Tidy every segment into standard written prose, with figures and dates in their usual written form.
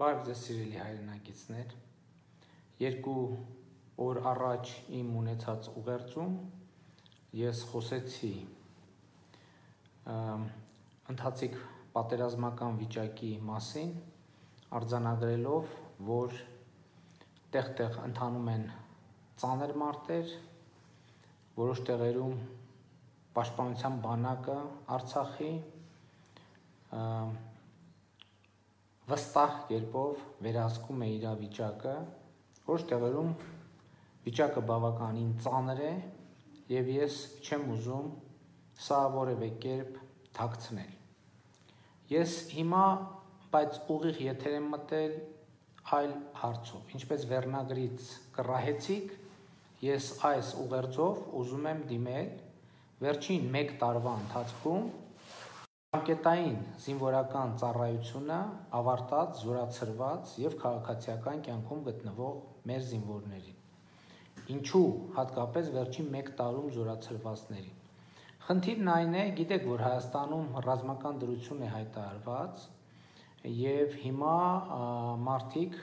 Բարև ձեզ սիրելի հայրենակիցներ, երկու օր առաջ իմ ունեցած ուղերձում ես խոսեցի ընթացիկ պատերազմական վիճակի մասին, արձանագրելով, որ տեղ-տեղ ընթանում են ծանր մարտեր, որոշ տեղերում պաշտպանության բանակը Արցախի վստահ կերպով վերահսկում է իրավիճակը, որոշ տեղերում վիճակը բավականին ծանր է եւ ես չեմ ուզում սա որևէ կերպ թաքցնել։ Ես հիմա բայց ուղիղ եթեր եմ մտել այլ հարցով, ինչպես վերնագրից կռահեցիք, ես այս ուղերձով ուզում եմ դիմել վերջին 1 տարվա ընթացքում Անկետային զինվորական ծառայությունը ավարտած, զորացրված եւ քաղաքացիական կյանքում գտնվող մեր զինվորներին։ Ինչու հատկապես վերջին 1 տարում զորացրվածներին։ Խնդիրն այն է, գիտեք, որ Հայաստանում ռազմական դրություն է հայտարարված եւ հիմա մարդիկ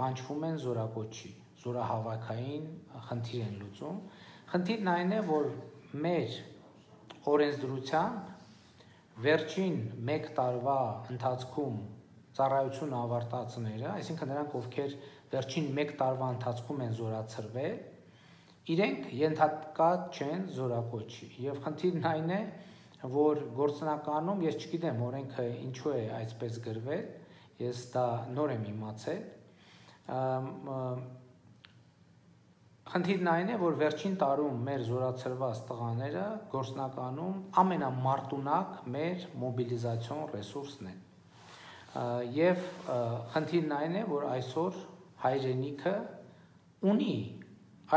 կանչվում են զորակոչի, զորահավաքային խնդիր են լուծում։ Խնդիրն այն է, որ մեր օրենսդրությամբ վերջին 1 տարվա ընթացքում ծառայություն ավարտածները, այսինքն նրանք, ովքեր վերջին 1 տարվա ընթացքում են զորացրվել, իրենք ենթակա չեն զորակոչի։ Եվ խնդիրն այն է, որ գործնականում, ես չգիտեմ օրենքը ինչու է այսպես գրվել, ես դա նոր եմ իմացել, խնդիրն այն է, որ վերջին տարում մեր զորացրված տղաները գործնականում ամենամարտունակ մեր մոբիլիզացիոն ռեսուրսն են։ Եվ խնդիրն այն է, որ այսօր հայրենիքը ունի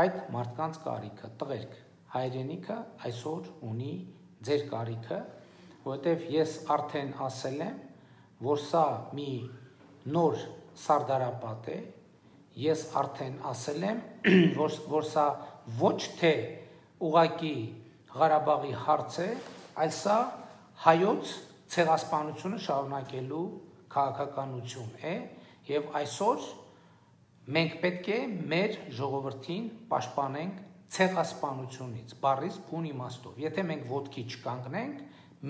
այդ մարդկանց կարիքը, տղերք, հայրենիքը այսօր ունի ձեր կարիքը, որովհետև ես արդեն ասել եմ, որ սա մի նոր սարդարապատ է, ես արդեն ասել եմ, որ սա ոչ թե ուղղակի Ղարաբաղի հարց է, այլ սա հայոց ցեղասպանությունը շարունակելու քաղաքականություն է, եւ այսօր մենք պետք է մեր ժողովրդին պաշտպանենք ցեղասպանությունից, բառից բուն իմաստով։ Եթե մենք ոտքի չկանգնենք,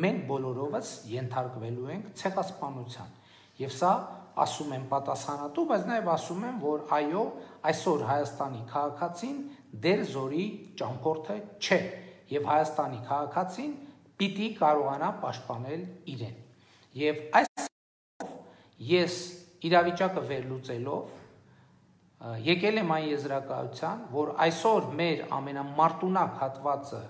մենք բոլորովս ենթարկվելու ենք ցեղասպանության։ Եվ սա ասում եմ պատասխանատու, բայց նաև ասում եմ, որ այո, այսօր Հայաստանի քաղաքացին դեր զորի ճամփորդը չէ, եւ Հայաստանի քաղաքացին պիտի կարողանա պաշտպանել իրեն։ Եվ այս ես իրավիճակը վերլուծելով եկել եմ այն եզրակացության, որ այսօր մեր ամենամարտունակ հատվածը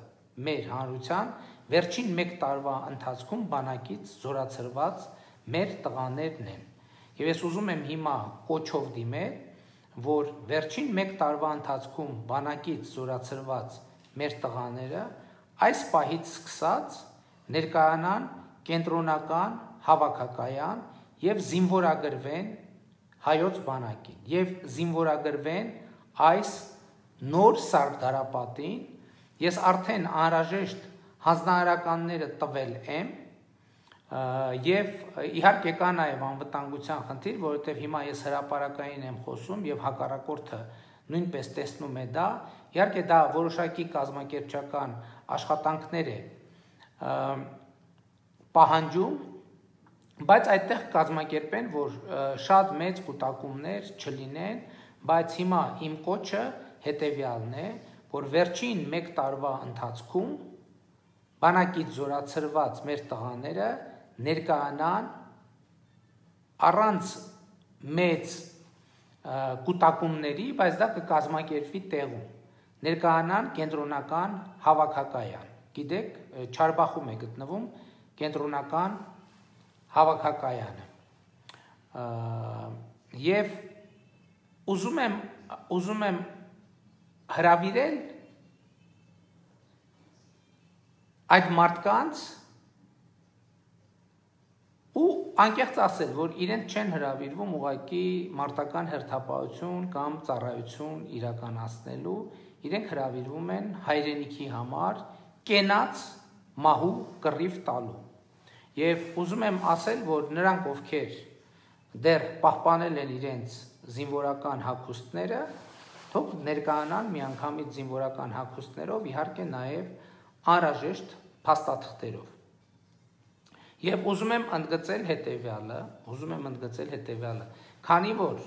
մեր հանրության վերջին 1 տարվա ընթացքում բանակից զորացրված մեր տղաներն են։ Եվ ես ուզում եմ հիմա կոչով դիմել, որ վերջին 1 տարվա ընթացքում բանակից զորացրված մեր տղաները այս պահից սկսած ներկայանան կենտրոնական հավաքակայան եւ զինվորագրվեն հայոց բանակին եւ զինվորագրվեն այս նոր սարդարապատին։ Ես արդեն անհրաժեշտ հանձնարարականները տվել եմ եւ իհարկե կա նաեւ անվտանգության խնդիր, որովհետեւ հիմա ես հրապարակային եմ խոսում եւ հակառակորդը նույնպես տեսնում է դա, իհարկե դա որոշակի կազմակերպչական աշխատանքներ է պահանջում, բայց այդտեղ կազմակերպեն, որ շատ մեծ կուտակումներ չլինեն, բայց հիմա իմ կոչը հետեւյալն է, որ վերջին 1 տարվա ընթացքում բանակից զորացրված մեր տղաները ներկայանան առանց մեծ կուտակումների, բայց դա կկազմակերպվի տեղում, ներկայանան կենտրոնական հավաքակայան։ Գիտեք, Չարբախում է գտնվում կենտրոնական հավաքակայանը։ Եվ ուզում եմ հրավիրել այդ մարդկանց ու անկեղծ ասել, որ իրենց չեն հրավիրվում ուղղակի մարտական հերթապահություն կամ ծառայություն իրականացնելու, իրենք հրավիրվում են հայրենիքի համար կենաց մահու կռիվ տալու։ Եվ ուզում եմ ասել, որ նրանք, ովքեր դեռ պահպանել են իրենց զինվորական հագուստները, թող ներկայանան միանգամից զինվորական հագուստներով, իհարկե նաև անհրաժեշտ փաստաթղթերով։ Եվ ուզում եմ ընդգծել հետևյալը, քանի որ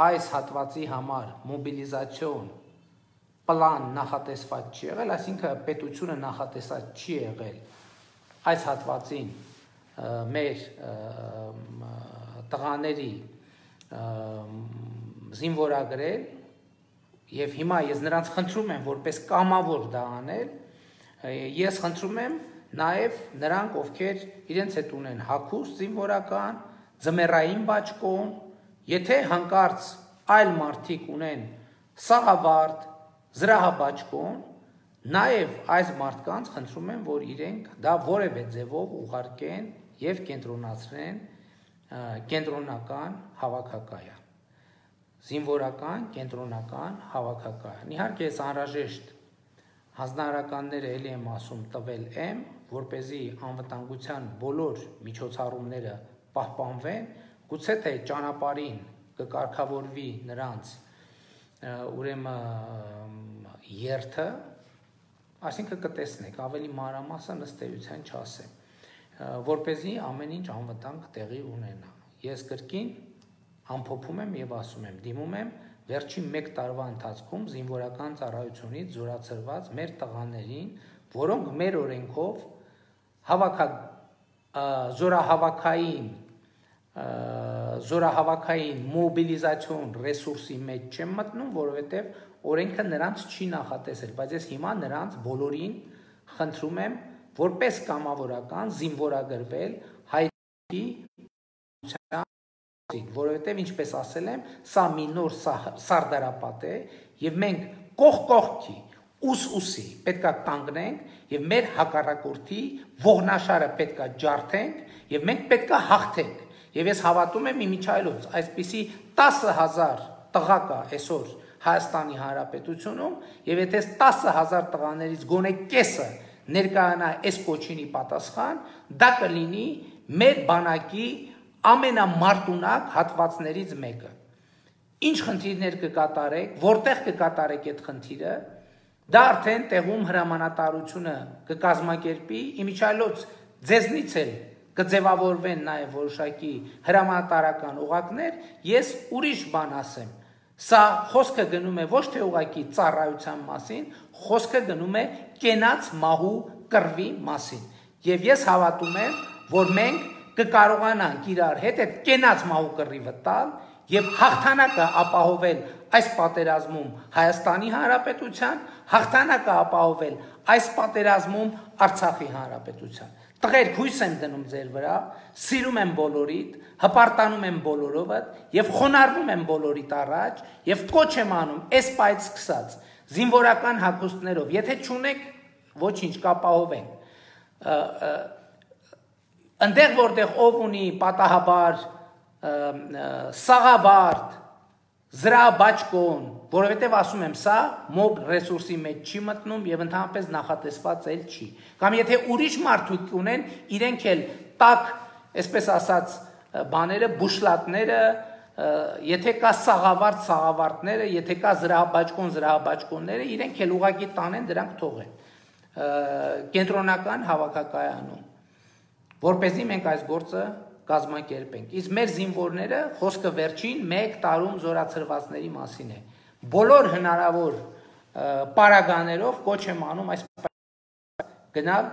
այս հատվածի համար մոբիլիզացիոն պլան նախատեսված չի եղել, այսինքն պետությունը նախատեսած չի եղել այս հատվածին մեր տղաների զինվորագրել, եւ հիմա ես նրանց խնդրում եմ որպես կամավոր դա անել, ես խնդրում եմ նաև նրանք, ովքեր իրենց հետ ունեն հագուստ զինվորական, ձմեռային բաճկոն, եթե հանկարծ այլ մարդիկ ունեն սաղավարտ, զրահաբաճկոն, նաև այս մարդկանց խնդրում եմ, որ իրենք դա որևէ ձևով ուղարկեն եւ կենտրոնացնեն կենտրոնական հավաքակայան, զինվորական կենտրոնական հավաքակայան։ Իհարկե ես անհրաժեշտ հանձնարարականները էլի եմ ասում տվել եմ, որպեսզի անվտանգության բոլոր միջոցառումները պահպանվեն, գուցե թե ճանապարհին կկարգավորվի նրանց ուրեմն երթը, այսինքն կտեսնեք, ավելի մանրամասն ըստ էության չասեմ, որպեսզի ամեն ինչ անվտանգ տեղի ունենա։ Ես կրկին ամփոփում եմ եւ ասում եմ, դիմում եմ վերջին 1 տարվա ընթացքում զինվորական ծառայությունից զորացրված մեր տղաներին, որոնք մեր օրենքով զորահավաքային մոբիլիզացիոն ռեսուրսի մեջ չեն մտնում, որովհետև օրենքը նրանց չի նախատեսել, բայց ես հիմա նրանց բոլորին խնդրում եմ որպես կամավորական զինվորագրվել հայտնի որովհետև ինչպես ասել եմ, սա մի նոր սարդարապատ է եւ մենք կողքի ուսի պետքա կանգնենք եւ մեր հակառակորդի ողնաշարը պետքա ջարդենք եւ մենք պետքա հաղթենք եւ ես հավատում եմ իմիջայլոց այսպիսի 10,000 տղա կա այսօր Հայաստանի Հանրապետությունում եւ եթե 10,000 տղաներից գոնե կեսը ներկայանա այս կոչինի պատասխան, դա կլինի մեր բանակի ամենամարտունակ հատվածներից մեկը։ Ինչ խնդիրներ կկատարեք, որտեղ կկատարեք այդ խնդիրը, դա արդեն տեղում հրամանատարությունը կկազմակերպի, իմիջայլոց ձեզնից էլ կձևավորվեն նաև որոշակի հրամանատարական օղակներ, ես ուրիշ բան ասեմ։ Սա խոսքը գնում է ոչ թե ուղղակի ծառայության մասին, խոսքը գնում է կենաց մահու կռվի մասին։ Եվ ես հավատում եմ, որ մենք կկարողանանք իրար հետ այդ կենաց մահու կռիվը տալ եւ հաղթանակը ապահովել այս պատերազմում Հայաստանի Հանրապետության, հաղթանակը ապահովել այս պատերազմում Արցախի Հանրապետության։ Տղեր, հույս եմ դնում ձեր վրա, սիրում եմ բոլորիդ, հպարտանում եմ բոլորովդ եւ խոնարհվում եմ բոլորիդ առաջ եւ կոչ եմ անում այս պայծ սկսած զինվորական հագուստներով, եթե չունեք, ոչինչ կապահովենք։ Այնտեղ որտեղ ով ունի պատահաբար սաղավարտ, զրահաբաճկոն, որովհետև ասում եմ, սա մոբ ռեսուրսի մեջ չի մտնում եւ ընդհանրապես նախատեսված էլ չի։ Կամ եթե ուրիշ մարդիկ ունեն, իրենք էլ տակ, այսպես ասած, բաները, բուշլատները, եթե կա սաղավարտները, եթե կա զրահաբաճկոնները, իրենք էլ ուղղակի տանեն, դրանք թողեն։ Կենտրոնական հավաքակայանում, որպեսզի մենք այս գործը կազմակերպենք։ Իսկ մեր զինվորները խոսքը վերջին 1 տարում զորացրվածների մասին է։ Բոլոր հնարավոր պարագաներով կոչ եմ անում այս գնալ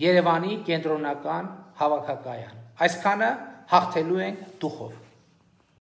Երևանի կենտրոնական հավաքակայան։ Այսքանը հաղթելու ենք դուխով։